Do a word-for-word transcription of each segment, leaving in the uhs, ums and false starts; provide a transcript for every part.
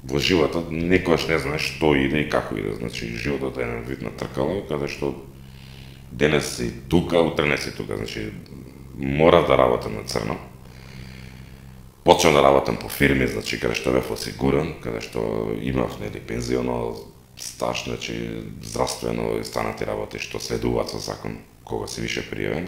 во животот некојаш не знаеш што иде и како иде. Значи животот е еден вид на тркало, каде што денес си тука, утре не си тука. Значи мора да работам на црно. Почнав да работам по фирми, значи каде што бев осигуран, каде што имав нели пензионо стаж, значи здравствено и станати работи што следуваат со закон кога си више пријавен.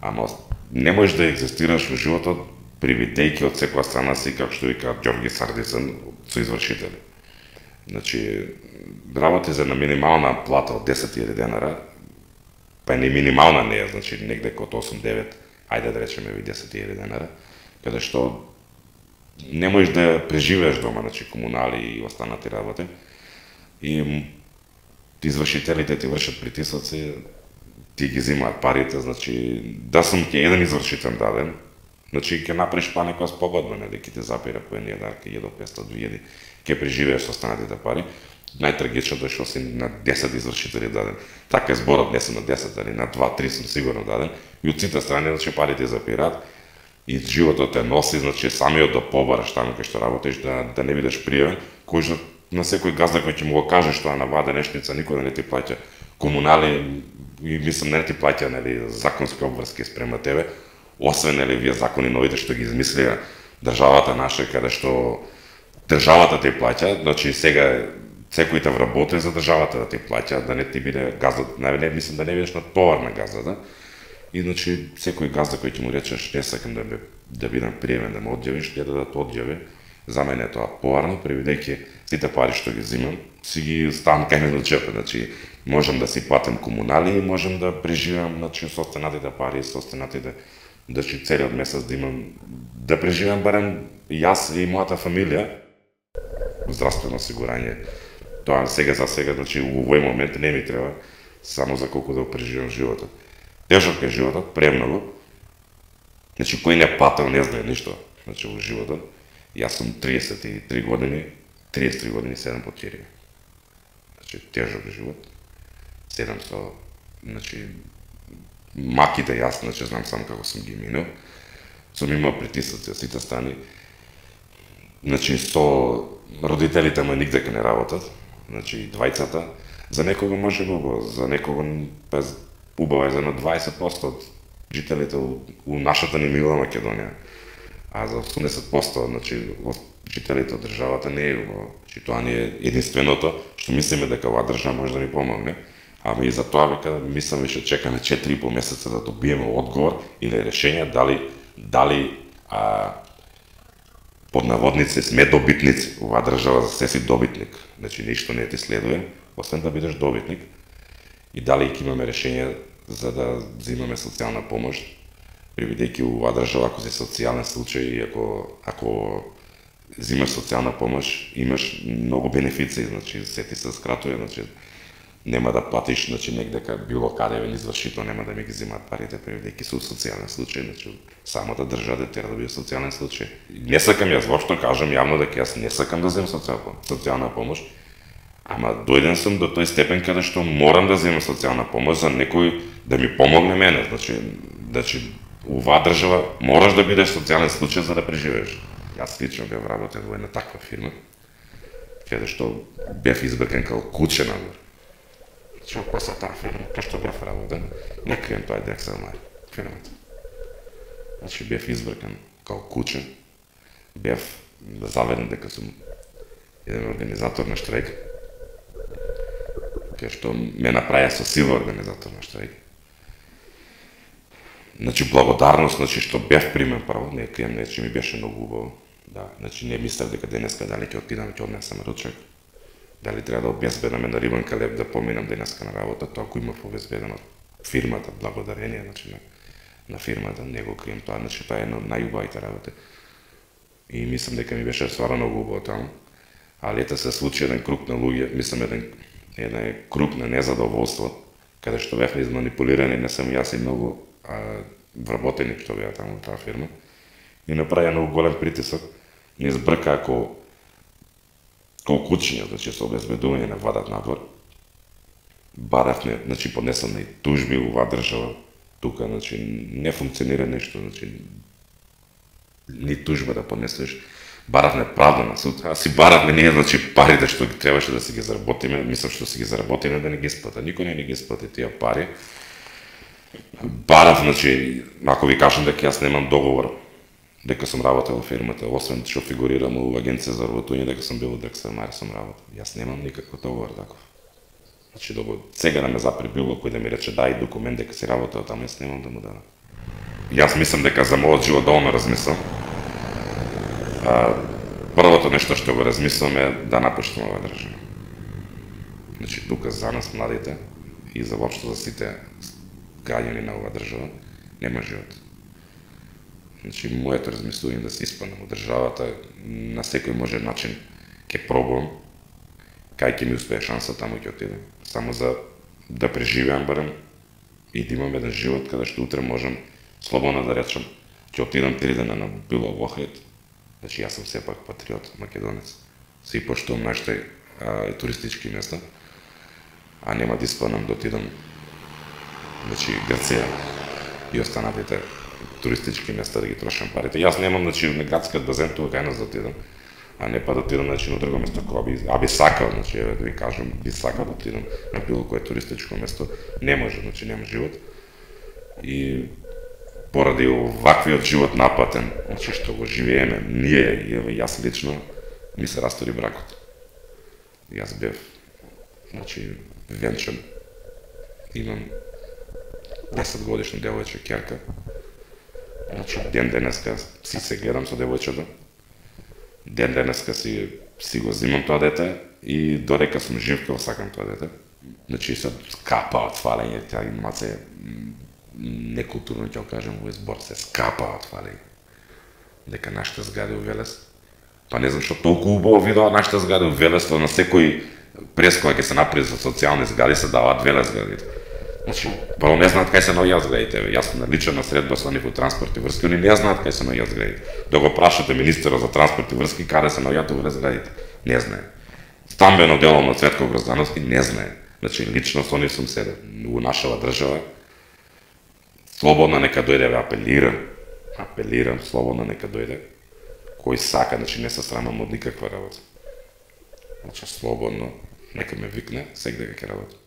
Ама не можеш да екзистираш во животот привидејќи од секоја страна си, како што вика Ѓорги Сардицен, со извршители. Значи, работи за на минимална плата од десет илјади денара, па не минимална не е, значи негде код осум-девет, ајде да речеме и десет илјади денара, каде што не можеш да преживееш дома, значи комунали и останати работи. И извршителите ти вршат притисоци, ти ги зимаат парите, значи да сум ќе еден извршител даден, значи ќе направиш па некоја спогодба, нели, ќе ти запира по еден дар, ќе до петстотини до две илјади, ќе преживееш со останатите пари. Најтрагичното е што си на десет извршители даден. Така е зборот, не сум на десет, али на два-три сум сигурно даден. И од сите страни, значи парите запираат и животот те носи, значи самиот да побараш таму кај што работиш, да да не бидеш пријавен, кој на секој газда кој ќе му го каже што е на вада нешница, никој да не ти плаќа комунали и мислам не ти плаќа, нели, законски обврски спрема тебе, освен нели вие закони новите што ги измислија државата наша, каде што државата ти плаќа, значи сега секој те вработи за државата да ти плаќа, да не ти биде газда, не мислам да не бидеш на товар на газдата. И значи секој газда кој ќе му речеш не сакам да да бидам приемен да ме одјавиш, ќе да те одјави. За мене е тоа поварно, привидејќи сите пари што ги земам, си ги ставам кај мене од џепот, значи можам да си платам комунали, можам да преживеам, значи со останатите пари, со останатите, значи целиот месец да имам, да преживеам барем јас и мојата фамилија, здравствено осигурање. Тоа сега за сега, значи во овој момент не ми треба, само за колку да го преживеам животот. Тежок е животот, премногу. Значи кој не патил не знае ништо, значи во животот. Јас сум триесет и три години, триесет и три години седам по тирија. Значи тежок живот. Седам со, значи маките јас, значи знам само како сум ги минал. Сум имал притисоци од сите страни. Значи со родителите мои нигде не работат. Значи двајцата. За некого може убаво, за некого без убаво е за на дваесет проценти од жителите у нашата ни мила Македонија. А за осумдесет проценти, значи, од жителите од државата не е убаво. Значи, тоа не е единственото што мислиме дека оваа држава може да ни помогне. Ама и за тоа века мислам веќе чекаме четири и пол месеца да добиеме одговор или решение дали дали а, под наводници сме добитници. Оваа држава за се си добитник. Значи ништо не ти следува, освен да бидеш добитник. И дали ќе имаме решение за да земаме социјална помош. Привидејќи оваа држава, ако си социјален случај и ако, ако земаш социјална помош, имаш многу бенефиции, значи се ти се скратува, значи нема да платиш, значи негде кај било каде вен извршител нема да ми ги земаат парите, привидејќи су социјален случај, значи самата држава да тера да биде социјален случај. Не сакам јас воопшто кажам јавно дека јас не сакам да земам социјална помош, ама дојден сум до тој степен каде што морам да земам социјална помош за некој да ми помогне мене, значи, значи оваа држава мораш да бидеш социјален случај за да преживееш. Јас лично бев работел во една таква фирма, каде што бев избркан као куче надвор. Значи, после таа фирма, кај што бев работел, не крием тоа е Дексел Мај, фирмата. Значи, бев избркан као куче, бев заведен дека сум еден организатор на штрајк, кај што ме направија со сила организатор на штрајк. Значи, благодарност, значи, што бев примен право, не крием, не, че ми беше многу убаво. Да, значи, не мислев дека денеска дали ќе отидам и ќе однесам ручек, дали треба да обезбедаме на Рибанка леп да поминам денеска на работа, тоа ако имав обезбедено фирмата, благодарение, значи, на, на фирмата, не го крием тоа, значи, тоа е една од најубавите работи. И мислам дека ми беше стварно многу убаво таму. А лета се случи еден круг на луѓе, мислам еден, еден круг на незадоволство, каде што бевме изманипулирани, не сам јас и многу а, вработени што беа таму во таа фирма. И направија многу голем притисок, не избрка ако као кучиња, значи со обезбедување на вадат надвор. Баравме, значи поднесовме и тужби во оваа држава, тука, значи не функционира нешто, значи ни тужба да поднесеш. баравме правда на суд, а си баравме ние, значи, парите што требаше да си ги заработиме, мислам што си ги заработиме да не ги сплата. Никој не ги сплати тие пари. Барав, значи, ако ви кажам дека јас немам договор, дека сум работел во фирмата, освен што фигурирам у агенција за работување, дека сум бил у Декстер Мари сум работел. Јас немам никаков договор таков. Значи, докато сега да ме запре било кој да ми рече дај документ дека си работел таму, јас немам да му дадам. Јас мислам дека за мојот живот доволно размислам. А, првото нешто што го размислам е да напуштам оваа држава. Значи, тука за нас младите и за воопшто за сите граѓани на оваа држава нема живот. Значи, моето размислување да се испаднам од државата на секој може начин ќе пробувам, кај ќе ми успее шанса, таму ќе отидам. Само за да преживеам барем и да имам еден живот каде што утре можам слободно да речам ќе отидам три дена на било во Охрид. Значи, јас сум сепак патриот, македонец. Се и поштувам нашите а, туристички места, а нема да испаднам да отидам, значи, Грција и останатите туристички места да ги трошам парите. Јас немам, значи, на градскиот базен тука кај нас да отидам, а не па да отидам, значи, на друго место кога би, а би сакал, значи, еве да ви кажам, би сакал да отидам на било кое туристичко место. Не може, значи, нема живот. И поради оваквиот живот напатен, значи, што го живееме, ние, и еве јас лично, ми се растори бракот. Јас бев, значи, венчан. Имам десет годишна девојче ќерка. Значи, ден денеска си се гледам со девојчето. Ден денеска си, си го зимам тоа дете и додека сум жив кога сакам тоа дете. Значи, се скапа од фалење, таа имаце некултурно ќе кажам во избор, се скапа од фалење. Дека нашите згади у Велес, па не знам што толку убаво видоа нашите згади у Велес, на секој прес кога ќе се направи за социјални згади се даваат Велес згадите. Значи, прво не знаат кај се наоѓаат зградите. Јас сум наличен на средба со нив у транспорт и врски, они не знаат кај се наоѓаат зградите. Да го прашате министерот за транспорт и врски каде се наоѓаат овие зградите, не знае. Стамбено дело на Цветко Гроздановски не знае. Значи, лично со нив сум седел у нашава држава. Слободно нека дојде, ве апелирам, апелирам, слободно нека дојде. Кој сака, значи не се срамам од никаква работа. Значи, слободно нека ме викне, секој дека ќе работи.